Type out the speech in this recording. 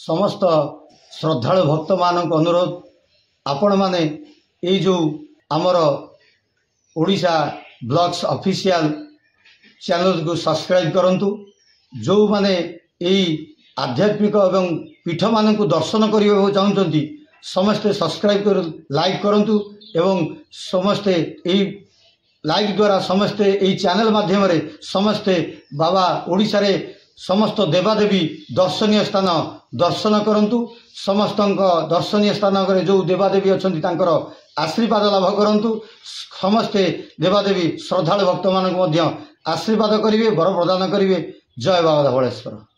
ସମସ୍ତ ଶ୍ରଦ୍ଧାଳୁ ଭକ୍ତମାନଙ୍କୁ ଅନୁରୋଧ, ଆପଣମାନେ ଏଇ ଯେଉଁ ଆମର ଓଡ଼ିଶା ବ୍ଲଗ୍ସ ଅଫିସିଆଲ ଚ୍ୟାନେଲକୁ ସବସ୍କ୍ରାଇବ୍ କରନ୍ତୁ। ଯେଉଁମାନେ ଏଇ ଆଧ୍ୟାତ୍ମିକ ଏବଂ ପୀଠମାନଙ୍କୁ ଦର୍ଶନ କରିବାକୁ ଚାହୁଁଛନ୍ତି, ସମସ୍ତେ ସବସ୍କ୍ରାଇବ୍ କରି ଲାଇକ୍ କରନ୍ତୁ ଏବଂ ସମସ୍ତେ ଏଇ ଲାଇକ୍ ଦ୍ୱାରା, ସମସ୍ତେ ଏଇ ଚ୍ୟାନେଲ ମାଧ୍ୟମରେ ସମସ୍ତେ ବାବା ଓଡ଼ିଶାରେ ସମସ୍ତ ଦେବାଦେବୀ ଦର୍ଶନୀୟ ସ୍ଥାନ ଦର୍ଶନ କରନ୍ତୁ। ସମସ୍ତଙ୍କ ଦର୍ଶନୀୟ ସ୍ଥାନରେ ଯେଉଁ ଦେବାଦେବୀ ଅଛନ୍ତି, ତାଙ୍କର ଆଶୀର୍ବାଦ ଲାଭ କରନ୍ତୁ। ସମସ୍ତେ ଦେବାଦେବୀ ଶ୍ରଦ୍ଧାଳୁ ଭକ୍ତମାନଙ୍କୁ ମଧ୍ୟ ଆଶୀର୍ବାଦ କରିବେ, ବର ପ୍ରଦାନ କରିବେ। ଜୟ ବାବା ଧବଳେଶ୍ୱର।